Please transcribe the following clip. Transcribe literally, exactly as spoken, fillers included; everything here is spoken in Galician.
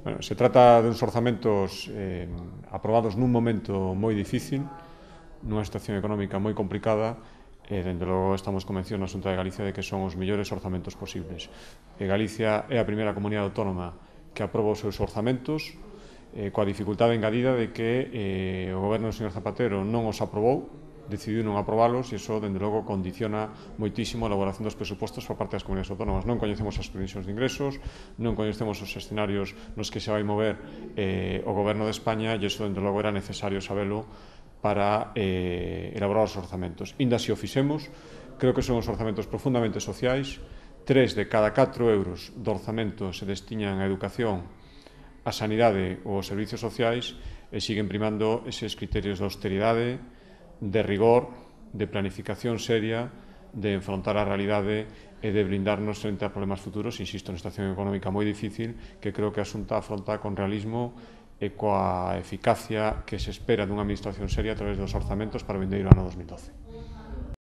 Bueno, se trata de uns orzamentos eh, aprobados nun momento moi difícil, nunha situación económica moi complicada, e, dende logo, estamos convencidos na Xunta de Galicia de que son os mellores orzamentos posibles. E Galicia é a primeira comunidade autónoma que aproba os seus orzamentos, eh, coa dificultade engadida de que eh, o goberno do señor Zapatero non os aprobou, decidiu non aprobalos, e iso, dende logo, condiciona moitísimo a elaboración dos presupostos por parte das comunidades autónomas. Non coñecemos as previsións de ingresos, non coñecemos os escenarios nos que se vai mover eh, o goberno de España, e iso, dende logo, era necesario sabelo para eh, elaborar os orzamentos. Inda se o fixemos, creo que son os orzamentos profundamente sociais. Tres de cada catro euros do orzamento se destinan á educación, á sanidade ou aos servicios sociais, e siguen primando eses criterios de austeridade, de rigor, de planificación seria, de enfrontar a realidade e de blindarnos frente a problemas futuros, insisto, nesta situación económica moi difícil, que creo que a Xunta afronta con realismo e coa eficacia que se espera dunha administración seria a través dos orzamentos para o vindeiro ano dos mil doce.